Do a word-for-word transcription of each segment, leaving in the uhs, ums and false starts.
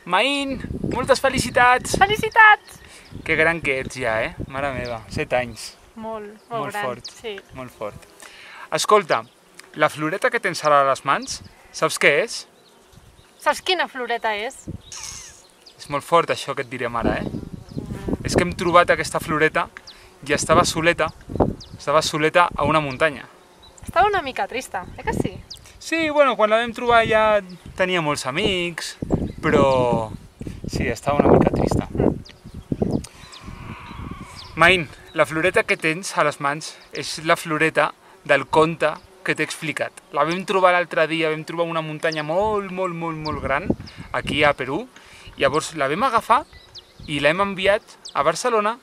Maín, moltes felicitats! Felicitats! Que gran que ets ja, eh? Mare meva, set anys. Molt, molt, Molt gran. fort, Sí. molt fort. Escolta, la floreta que tens ara a les mans, saps què és? Saps quina floreta és? És molt fort això que et direm ara, eh? És que hem trobat aquesta floreta i estava soleta, estava soleta a una muntanya. Estava una mica trista, eh que sí? Sí, bueno, quan la vam trobar ja tenia molts amics, però sí, estava una mica trista. Maín, la floreta que tens a les mans és la floreta del conte que t'he explicat. La vam trobar l'altre dia, vam trobar una muntanya molt, molt, molt, molt gran, aquí a Perú. Llavors la vam agafar i l'hem enviat a Barcelona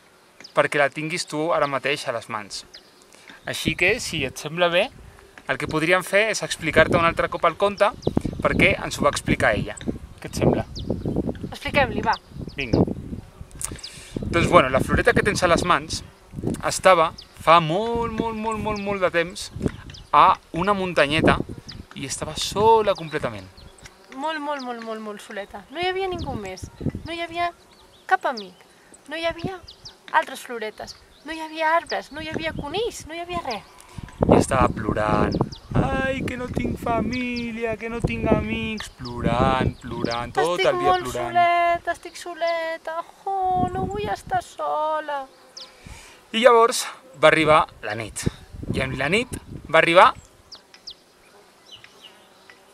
perquè la tinguis tu ara mateix a les mans. Així que, si et sembla bé, el que podríem fer és explicar-te un altre cop el conte perquè ens ho va explicar ella. Què et sembla? Expliquem-li, va. Vinga. Doncs bueno, la floreta que tens a les mans estava fa molt, molt, molt, molt, molt de temps a una muntanyeta i estava sola completament. Molt, molt, molt, molt, molt soleta. No hi havia ningú més. No hi havia cap amic. No hi havia altres floretes. No hi havia arbres, no hi havia conills, no hi havia res. I estava plorant. Ai, que no tinc família, que no tinc amics. Plorant, plorant, tot estic el dia molt plorant. soleta, estic soleta. Oh, no vull estar sola. I llavors va arribar la nit. I en la nit va arribar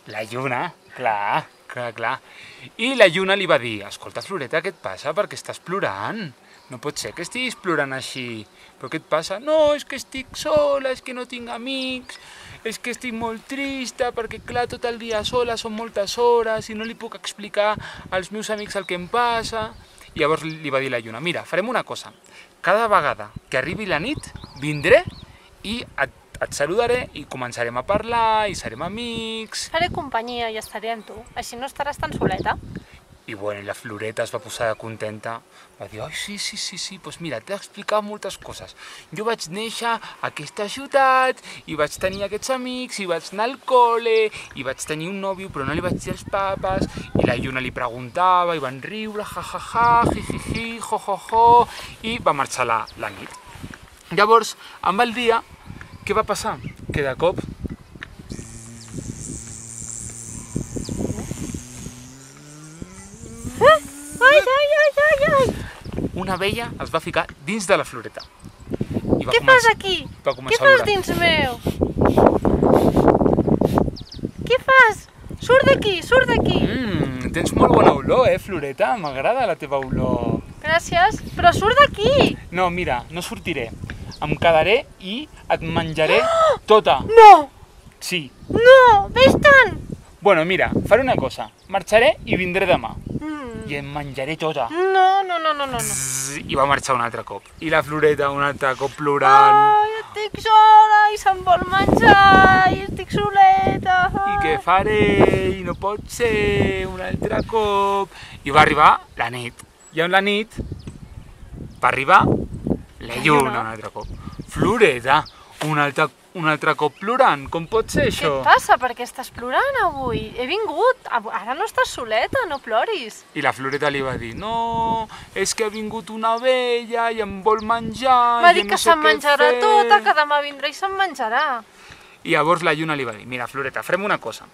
la lluna, clar, clar, clar. I la lluna li va dir, escolta, Floreta, què et passa? Per què estàs plorant? No pot ser que estiguis plorant així. Però què et passa? No, és que estic sola, és que no tinc amics, és que estic molt trista, perquè clar, tot el dia sola, són moltes hores i no li puc explicar als meus amics el que em passa. I llavors li va dir la lluna, mira, farem una cosa. Cada vegada que arribi la nit, vindré i et, et saludaré i començarem a parlar i serem amics. Faré companyia i estaré amb tu. Així no estaràs tan soleta. I bueno, la Floreta es va posar contenta, va dir, ai, sí, sí, sí, sí, doncs mira, t'he explicat moltes coses. Jo vaig néixer a aquesta ciutat, i vaig tenir aquests amics, i vaig anar al col·le, i vaig tenir un nòvio, però no li vaig dir als papes, i la lluna li preguntava, i van riure, ja, ja, ja, ji, ji, ji, jo, jo, jo, i va marxar la, la nit. Llavors, amb el dia, què va passar? Que de cop Ai, ai, ai, ai, ai. una abella es va ficar dins de la floreta. I va Què començar- fas aquí? va Què començar a fas olorar. dins meu? Què fas? Surt d'aquí, surt d'aquí. Mmm, tens molt bona olor, eh, Floreta? M'agrada la teva olor. Gràcies, però surt d'aquí. No, mira, no sortiré. Em quedaré i et menjaré tota. No, Sí. no, vés-te'n. Bueno, mira, faré una cosa. Marxaré i vindré demà. Mm. I em menjaré tota. No, no, no, no, no. no. Zzz, I va marxar un altre cop. I la Floreta un altre cop plorant. Ai, estic sola i se'm vol menjar i estic soleta. I què faré? I no pot ser un altre cop. I va arribar la nit. I en la nit va arribar la lluna un altre cop. Floreta, un altre, un altre cop plorant. Com pot ser Què això? et passa? Per què estàs plorant avui? He vingut. Av- Ara no estàs soleta, no ploris. I la Floreta li va dir, no, és que ha vingut una abella i em vol menjar. M'ha i dit no que sé se'n què menjarà fer." tota, que demà vindrà i se'n menjarà. I llavors la lluna li va dir, mira, Floreta, farem una cosa.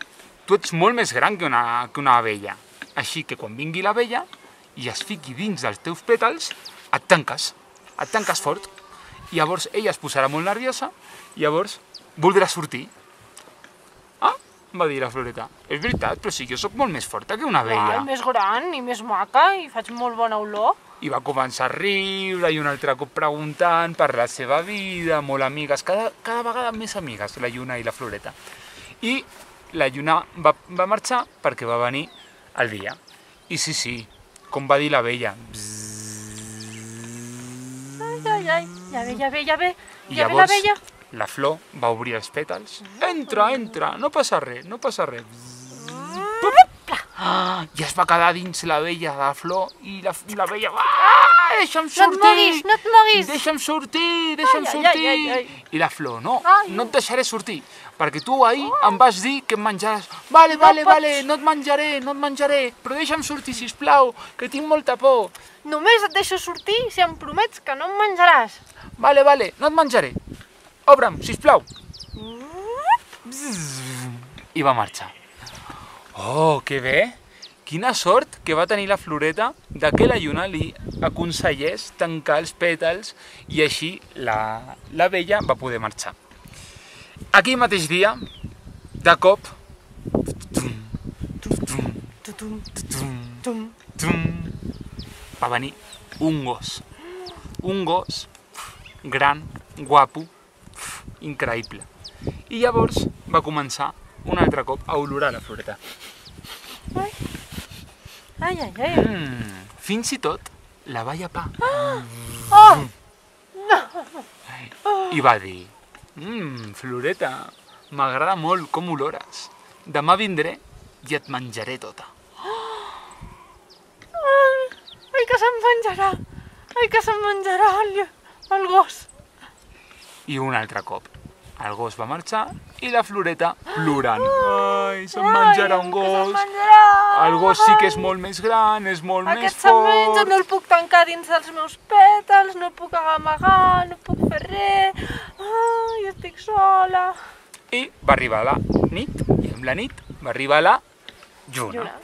Tu ets molt més gran que una, que una abella. Així que quan vingui l'abella i es fiqui dins dels teus pètals, et tanques, et tanques fort. I llavors ella es posarà molt nerviosa i llavors voldrà sortir. Ah, va dir la Floreta, és veritat, però si jo sóc molt més forta que una abella. Ai, més gran i més maca i faig molt bona olor. I va començar a riure i un altre cop preguntant per la seva vida, molt amigues, cada, cada vegada més amigues, la lluna i la Floreta. I la lluna va, va marxar perquè va venir el dia. I sí, sí, com va dir l'abella. Ai, ai, ai, ja ve, ja ve, ja ve. I Ja ve llavors l'abella. la flor va obrir els pètals. Entra, entra, no passa res, no passa res. Ah, i es va quedar dins la vella de la flor i la, la vella... Ah, deixa'm sortir! No et moguis, no et moguis! Deixa'm sortir, deixa'm Ai, ai, sortir! ai, ai, ai. I la flor, no, Ai, no et deixaré sortir, perquè tu ahir em vas dir que em menjaràs. Vale, vale, pots. vale, no et menjaré, no et menjaré, però deixa'm sortir, sisplau, que tinc molta por. Només et deixo sortir si em promets que no em menjaràs. Vale, vale, no et menjaré. Obre'm, sisplau. I va marxar. Oh, que bé! Quina sort que va tenir la Floreta de que la lluna li aconsellés tancar els pètals i així la, la vella va poder marxar. Aquell mateix dia, de cop, Tutum, tum. va venir un gos. Un gos gran, guapo, increïble. I llavors va començar un altre cop a olorar la Floreta. Ai, ai, ai. ai. Mm, fins i tot la va llepar. Oh! I va dir, mmm, Floreta, m'agrada molt com olores. Demà vindré i et menjaré tota. Ai, ai, que se'm menjarà. Ai, que se'm menjarà el, el gos. I un altre cop, el gos va marxar i la Floreta plorant. Ai, se'm menjarà un Que se'm gos. menjarà. El gos sí que és molt més gran, és molt més Aquest se'm menja, fort. no el puc tancar dins dels meus pètals, no el puc amagar, no puc fer res. Ai, estic sola. I va arribar la nit, i amb la nit va arribar la lluna. Lluna.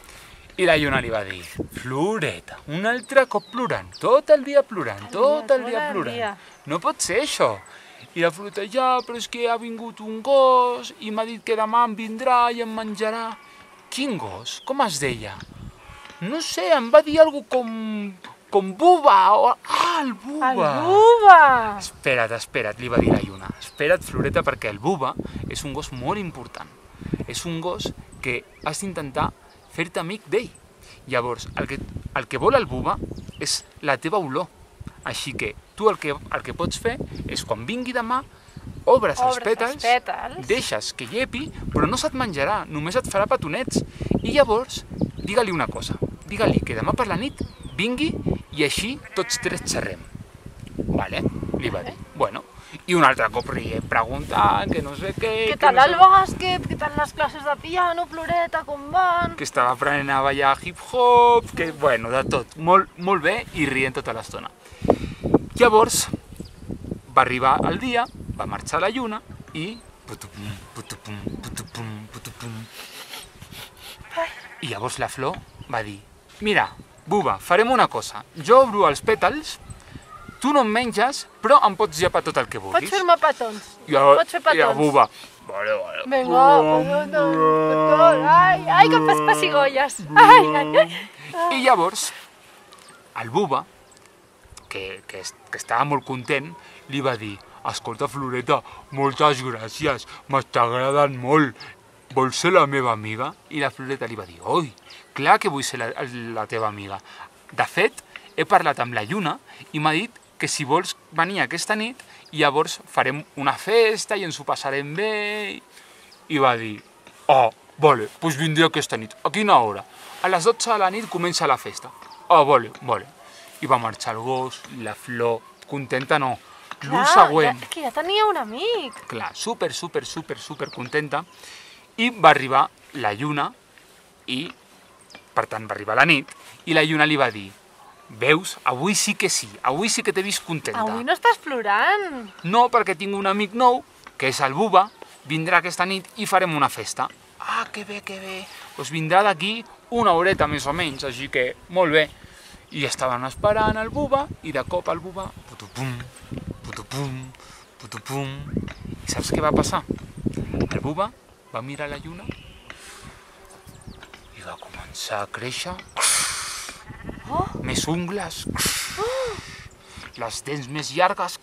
I la lluna li va dir, Floreta, un altre cop plorant, tot el dia plorant, tot el dia tot el plorant. dia. No pot ser això. I la Floreta, ja, però és que ha vingut un gos i m'ha dit que demà em vindrà i em menjarà. Quin gos? Com es deia? No sé, em va dir alguna com... com buba, o... Ah, el buba! El buba! Espera't, espera't, li va dir la lluna. Espera't, Floreta, perquè el buba és un gos molt important. És un gos que has d'intentar fer-te amic d'ell. Llavors, el que, el que vol el buba és la teva olor. Així que tu el que, el que pots fer és quan vingui demà, obres, els Obres pètals, els pètals. deixes que llepi, però no se't menjarà, només et farà petonets. I llavors, digue-li una cosa, digue-li que demà per la nit vingui i així tots tres xerrem. Vale? Li va dir. Bueno, i un altre cop rient, preguntant, que no sé què... Què que tal no el sé... bàsquet? Què tal les classes de piano, Floreta, com van? que estava aprenent a ballar hip-hop, que, bueno, de tot, molt, molt bé i rient tota l'estona. Llavors, va arribar el dia, va marxar la lluna i... putupum, putupum, putupum, putupum. I llavors la flor va dir, mira, buba, farem una cosa, jo obro els pètals, tu no em menges, però em pots llepar tot el que vulguis. Pots fer-me petons. I la, Pots fer petons. I la buba, vale, vale. Vinga, petons, petons. Ai, ai, que em fas pessigolles. Ai, ai, ai. I llavors, el buba, que, que, que estava molt content, li va dir, escolta, Floreta, moltes gràcies, m'està agradant molt, vols ser la meva amiga? I la Floreta li va dir, oi, clar que vull ser la, la teva amiga. De fet, he parlat amb la lluna i m'ha dit que si vols venir aquesta nit, llavors farem una festa i ens ho passarem bé. I va dir, ah, vale, doncs vindré aquesta nit. A quina hora? A les dotze de la nit comença la festa. Ah, vale, vale. I va marxar el gos, la flor, contenta no. L'úl següent, Ja, que ja tenia un amic. clar, super, super, super, super contenta. I va arribar la lluna i, per tant, va arribar la nit i la lluna li va dir, veus, avui sí que sí, avui sí que t'he vist contenta. Avui no estàs plorant. No, perquè tinc un amic nou, que és el Buba, vindrà aquesta nit i farem una festa. Ah, que bé, que bé. Doncs vindrà d'aquí una horeta més o menys, així que molt bé. I estaven esperant el Buba i de cop el Buba, putupum, putupum, putupum. I saps què va passar? El Buba va mirar la lluna i va començar a créixer. Oh. Més ungles, les dents més llargues,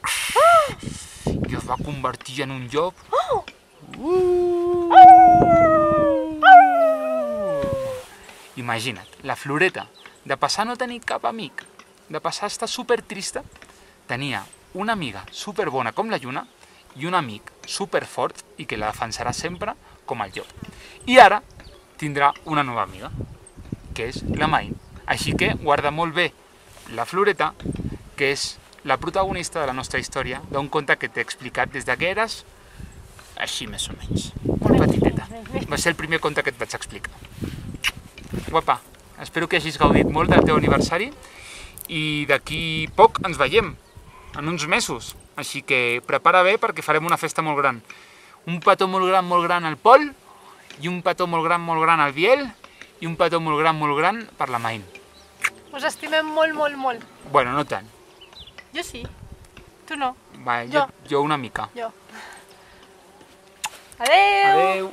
i es va convertir en un llop. Uh! Imagina't, la Floreta, de passar a no tenir cap amic, de passar a estar super trista, tenia una amiga super bona com la lluna i un amic super fort i que la defensarà sempre com el llop. I ara tindrà una nova amiga. que és la Main. Així que guarda molt bé la Floreta, que és la protagonista de la nostra història, d'un conte que t'he explicat des de que eres així més o menys, molt petiteta. Va ser el primer conte que et vaig explicar. Guapa, espero que hagis gaudit molt del teu aniversari i d'aquí poc ens veiem, en uns mesos. Així que prepara bé perquè farem una festa molt gran. Un petó molt gran, molt gran al Pol, i un petó molt gran, molt gran al Biel, i un petó molt gran, molt gran per la Main. Us estimem molt, molt, molt. Bueno, no tant. Jo sí. Tu no. Va, jo, jo una mica. Jo. Adeu! Adeu!